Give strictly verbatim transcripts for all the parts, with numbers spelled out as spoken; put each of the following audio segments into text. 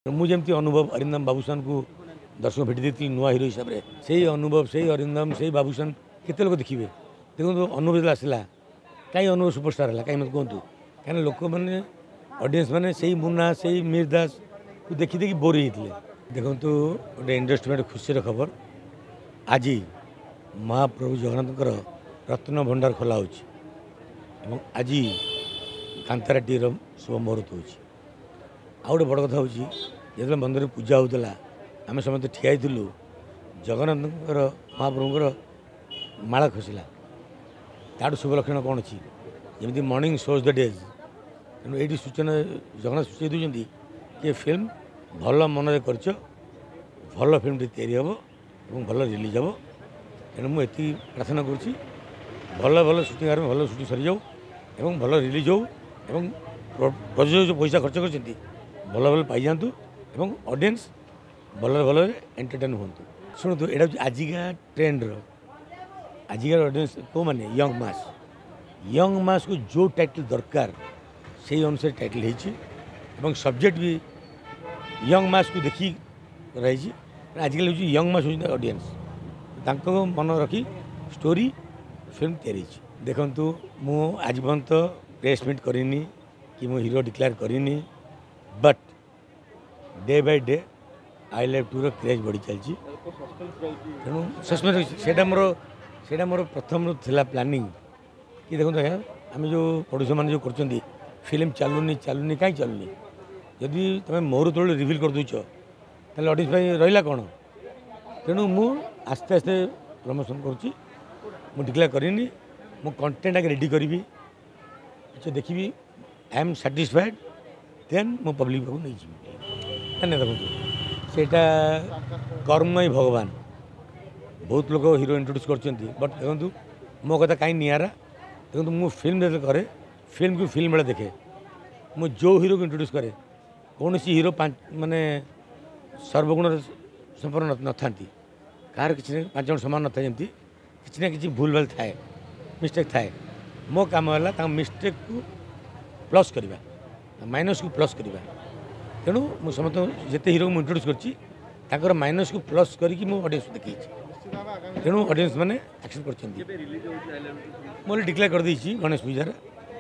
ମୁଁ ଯେମିତି ଅନୁଭବ ଅରିନ୍ଦମ ବାବୁସାନକୁ ଦର୍ଶକ ଭେଟି ଦେଇଥିଲି ନୂଆ ହିରୋ ହିସାବରେ, ସେଇ ଅନୁଭବ, ସେଇ ଅରିନ୍ଦମ, ସେଇ ବାବୁସାନ କେତେ ଲୋକ ଦେଖିବେ? ଦେଖନ୍ତୁ, ଅନୁଭବ ଯେତେବେଳେ ଆସିଲା, କାହିଁ ଅନୁଭବ ସୁପରଷ୍ଟାର ହେଲା? କାହିଁ ମୋତେ କୁହନ୍ତୁ? କାହିଁକିନା ଲୋକମାନେ, ଅଡ଼ିଏନ୍ସ ମାନେ ସେଇ ମୁନା, ସେଇ ମିହିର ଦାସକୁ ଦେଖି ଦେଖି ବୋର୍ ହେଇଯାଇଥିଲେ। ଦେଖନ୍ତୁ, ଗୋଟେ ଇଣ୍ଡଷ୍ଟ୍ରି ପାଇଁ ଖୁସିର ଖବର, ଆଜି ମହାପ୍ରଭୁ ଜଗନ୍ନାଥଙ୍କର ରତ୍ନ ଭଣ୍ଡାର ଖୋଲା ହେଉଛି ଏବଂ ଆଜି କାନ୍ତାରାଟିର ଶୁଭ ମୁହୂର୍ତ୍ତ ହେଉଛି। ଆଉ ଗୋଟେ ବଡ଼ କଥା ହେଉଛି, ଯେତେବେଳେ ମନ୍ଦିରରେ ପୂଜା ହେଉଥିଲା, ଆମେ ସମସ୍ତେ ଠିଆ ହେଇଥିଲୁ, ଜଗନ୍ନାଥଙ୍କର ମହାପ୍ରଭୁଙ୍କର ମାଳ ଖସିଲା। ତାଠୁ ଶୁଭ ଲକ୍ଷଣ କ'ଣ ଅଛି? ଯେମିତି ମର୍ଣ୍ଣିଂ ସୋଜ୍ ଦ ଡେଜ୍। ତେଣୁ ଏଇଠି ସୂଚନା ଜଗନ୍ନାଥ ସୂଚେଇ ଦେଉଛନ୍ତି କି ଏ ଫିଲ୍ମ ଭଲ ମନରେ କରିଛ, ଭଲ ଫିଲ୍ମଟି ତିଆରି ହେବ ଏବଂ ଭଲ ରିଲିଜ୍ ହେବ। ତେଣୁ ମୁଁ ଏତିକି ପ୍ରାର୍ଥନା କରୁଛି, ଭଲ ଭଲ ସୁଟିଂ ଆରମ୍ଭ, ଭଲ ସୁଟିଂ ସରିଯାଉ ଏବଂ ଭଲ ରିଲିଜ୍ ହେଉ ଏବଂ ପ୍ରଯୋଜକ ଯେଉଁ ପଇସା ଖର୍ଚ୍ଚ କରିଛନ୍ତି ଭଲ ଭଲ ପାଇଯାଆନ୍ତୁ ଏବଂ ଅଡ଼ିଏନ୍ସ ଭଲରେ ଭଲରେ ଏଣ୍ଟରଟେନ୍ ହୁଅନ୍ତୁ। ଶୁଣନ୍ତୁ, ଏଇଟା ହେଉଛି ଆଜିକା ଟ୍ରେଣ୍ଡର, ଆଜିକାର ଅଡ଼ିଏନ୍ସ କେଉଁମାନେ? ୟଙ୍ଗ ମାସ୍। ୟଙ୍ଗ ମାସ୍କୁ ଯେଉଁ ଟାଇଟଲ୍ ଦରକାର ସେଇ ଅନୁସାରେ ଟାଇଟଲ୍ ହେଇଛି ଏବଂ ସବଜେକ୍ଟ ବି ୟଙ୍ଗ ମାସ୍କୁ ଦେଖି କରାଯାଇଛି। ଆଜିକାଲି ହେଉଛି ୟଙ୍ଗ ମାସ୍ ହେଉଛନ୍ତି ଅଡ଼ିଏନ୍ସ, ତାଙ୍କ ମନ ରଖି ଷ୍ଟୋରି ଫିଲ୍ମ ତିଆରି ହେଇଛି। ଦେଖନ୍ତୁ, ମୁଁ ଆଜି ପର୍ଯ୍ୟନ୍ତ ପ୍ରେସ୍ ମିଟ୍ କରିନି କି ମୁଁ ହିରୋ ଡିକ୍ଲେୟାର କରିନି, but day by day I love tour craze ବଢ଼ି ଚାଲିଛି। ତେଣୁ ସସ୍ପେନ୍ସ ରହିଛି। ସେଇଟା ମୋର ସେଇଟା ମୋର ପ୍ରଥମରୁ ଥିଲା ପ୍ଲାନିଂ କି ଦେଖନ୍ତୁ ଆଜ୍ଞା, ଆମେ ଯେଉଁ ପ୍ରଡ୍ୟୁସର ମାନେ ଯେଉଁ କରୁଛନ୍ତି ଫିଲ୍ମ ଚାଲୁନି, ଚାଲୁନି, କାହିଁ ଚାଲୁନି? ଯଦି ତୁମେ ମୋର ତଳେ ରିଭିଲ୍ କରିଦେଉଛ, ତାହେଲେ ଅଡ଼ିଏନ୍ସ ପାଇଁ ରହିଲା କ'ଣ? ତେଣୁ ମୁଁ ଆସ୍ତେ ଆସ୍ତେ ପ୍ରମୋସନ୍ କରୁଛି। ମୁଁ ଡିକ୍ଲେୟାର କରିନି। ମୁଁ କଣ୍ଟେଣ୍ଟ ଆଗେ ରେଡ଼ି କରିବି, କିଛି ଦେଖିବି, I M satisfied, ଦେନ୍ ମୁଁ ପବ୍ଲିକ୍ ପାଖକୁ ନେଇଯିବି। ନାଇଁ ନାଇଁ, ଦେଖନ୍ତୁ, ସେଇଟା କର୍ମ ହିଁ ଭଗବାନ। ବହୁତ ଲୋକ ହିରୋ ଇଣ୍ଟ୍ରୋଡ୍ୟୁସ୍ କରୁଛନ୍ତି, ବଟ୍ ଦେଖନ୍ତୁ, ମୋ କଥା କାହିଁ ନିଆରା। ଦେଖନ୍ତୁ, ମୁଁ ଫିଲ୍ମ ଯେତେବେଳେ କରେ, ଫିଲ୍ମକୁ ଫିଲ୍ମ ବେଳେ ଦେଖେ। ମୁଁ ଯେଉଁ ହିରୋକୁ ଇଣ୍ଟ୍ରୋଡ୍ୟୁସ୍ କରେ, କୌଣସି ହିରୋ ପାଞ୍ଚ ମାନେ ସର୍ବଗୁଣରେ ସମ୍ପନ୍ନ ନଥାନ୍ତି। କାହାର କିଛି ନା ପାଞ୍ଚ ଜଣ ସମାନ ନଥାଏ, ଯେମିତି କିଛି ନା କିଛି ଭୁଲ ଭାଲ ଥାଏ, ମିଷ୍ଟେକ୍ ଥାଏ। ମୋ କାମ ହେଲା ତାଙ୍କ ମିଷ୍ଟେକ୍କୁ ପ୍ଲସ୍ କରିବା, ମାଇନସ୍କୁ ପ୍ଲସ୍ କରିବା। ତେଣୁ ମୁଁ ସମସ୍ତଙ୍କୁ, ଯେତେ ହିରୋକୁ ମୁଁ ଇଣ୍ଟ୍ରୋଡ୍ୟୁସ୍ କରିଛି, ତାଙ୍କର ମାଇନସ୍କୁ ପ୍ଲସ୍ କରିକି ମୁଁ ଅଡ଼ିଏନ୍ସକୁ ଦେଖେଇଛି। ତେଣୁ ଅଡ଼ିଏନ୍ସ ମାନେ ଆକ୍ସେପ୍ଟ କରିଛନ୍ତି। ମୁଁ ଡିକ୍ଲେୟାର କରିଦେଇଛି, ଗଣେଶ ପୂଜାରେ,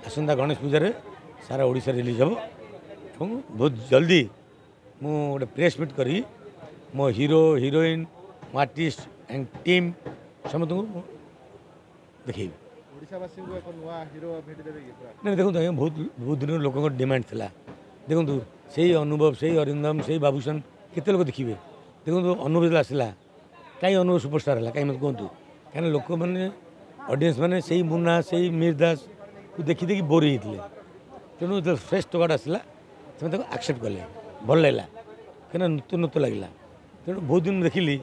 ଆସନ୍ତା ଗଣେଶ ପୂଜାରେ ସାରା ଓଡ଼ିଶା ରିଲିଜ୍ ହେବ ଏବଂ ବହୁତ ଜଲ୍ଦି ମୁଁ ଗୋଟେ ପ୍ରେସ୍ ମିଟ୍ କରି ମୋ ହିରୋ, ହିରୋଇନ୍, ମୋ ଆର୍ଟିଷ୍ଟ ଆଣ୍ଡ ଟିମ୍ ସମସ୍ତଙ୍କୁ ମୁଁ ଦେଖେଇବି। ଓଡ଼ିଶାବାସୀଙ୍କୁ ଏକ ନୂଆ ହିରୋ ଭେଟି ଦେବେ କି ପୁରା? ନାଇଁ, ଦେଖନ୍ତୁ ଆଜ୍ଞା, ବହୁତ ବହୁତ ଦିନରୁ ଲୋକଙ୍କ ଡିମାଣ୍ଡ ଥିଲା। ଦେଖନ୍ତୁ, ସେଇ ଅନୁଭବ, ସେଇ ଅରିନ୍ଦମ, ସେଇ ବାବୁସାନ କେତେ ଲୋକ ଦେଖିବେ? ଦେଖନ୍ତୁ, ଅନୁଭବ ଯେତେବେଳେ ଆସିଲା, କାହିଁ ଅନୁଭବ ସୁପରଷ୍ଟାର ହେଲା? କାହିଁ ମୋତେ କୁହନ୍ତୁ? କାହିଁକିନା ଲୋକମାନେ, ଅଡ଼ିଏନ୍ସ ମାନେ ସେଇ ମୁନା, ସେଇ ମିହିର ଦାସକୁ ଦେଖି ଦେଖି ବୋର୍ ହେଇଯାଇଥିଲେ। ତେଣୁ ଯେତେବେଳେ ଫ୍ରେଶ୍ ଟୋକାଟା ଆସିଲା, ସେମାନେ ତାକୁ ଆକ୍ସେପ୍ଟ କଲେ, ଭଲ ଲାଗିଲା, କାହିଁକିନା ନୂତନ ନୂତନ ଲାଗିଲା। ତେଣୁ ବହୁତ ଦିନ ଦେଖିଲି।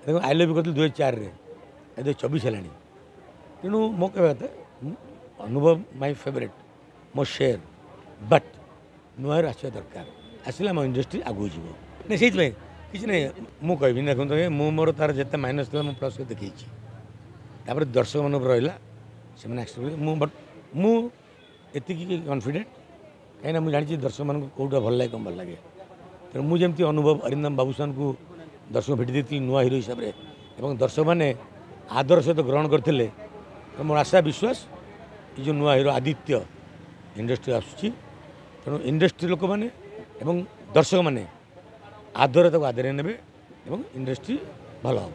ଦେଖନ୍ତୁ, I love କରିଥିଲି ଦୁଇ ହଜାର ଚାରିରେ, ଦୁଇ ହଜାର ଚବିଶ ହେଲାଣି। ତେଣୁ ମୋ କହିବା କଥା, ଅନୁଭବ ମାଇ ଫେଭରେଟ୍, ମୋ ସେୟାର, ବଟ୍ ନୂଆ ହିରୋ ଆସିବା ଦରକାର। ଆସିଲେ ଆମ ଇଣ୍ଡଷ୍ଟ୍ରି ଆଗକୁ ଯିବ। ନାଇଁ, ସେଇଥିପାଇଁ କିଛି ନାହିଁ, ମୁଁ କହିବିନି। ଦେଖନ୍ତୁ ଆଜ୍ଞା, ମୁଁ ମୋର ତାର ଯେତେ ମାଇନସ୍ ଥିଲା ମୁଁ ପ୍ଲସ୍ କରି ଦେଖେଇଛି। ତାପରେ ଦର୍ଶକମାନଙ୍କ ଉପରେ ରହିଲା, ସେମାନେ ଆକ୍ସେପ୍ଟ କଲେ। ମୁଁ ବଟ୍ ମୁଁ ଏତିକି କନଫିଡେଣ୍ଟ, କାହିଁକିନା ମୁଁ ଜାଣିଛି ଦର୍ଶକମାନଙ୍କୁ କେଉଁଟା ଭଲ ଲାଗେ, କ'ଣ ଭଲ ଲାଗେ। ତେଣୁ ମୁଁ ଯେମିତି ଅନୁଭବ ଅରିନ୍ଦମ ବାବୁସାନକୁ ଦର୍ଶକ ଭେଟି ଦେଇଥିଲି ନୂଆ ହିରୋ ହିସାବରେ ଏବଂ ଦର୍ଶକମାନେ ଆଦର ସହିତ ଗ୍ରହଣ କରିଥିଲେ, ତ ମୋର ଆଶା ବିଶ୍ୱାସ, ଏ ଯେଉଁ ନୂଆ ହିରୋ ଆଦିତ୍ୟ ଇଣ୍ଡଷ୍ଟ୍ରି ଆସୁଛି, ତେଣୁ ଇଣ୍ଡଷ୍ଟ୍ରି ଲୋକମାନେ ଏବଂ ଦର୍ଶକମାନେ ଆଦର ତାକୁ ଆଦରେଇ ନେବେ ଏବଂ ଇଣ୍ଡଷ୍ଟ୍ରି ଭଲ ହେବ।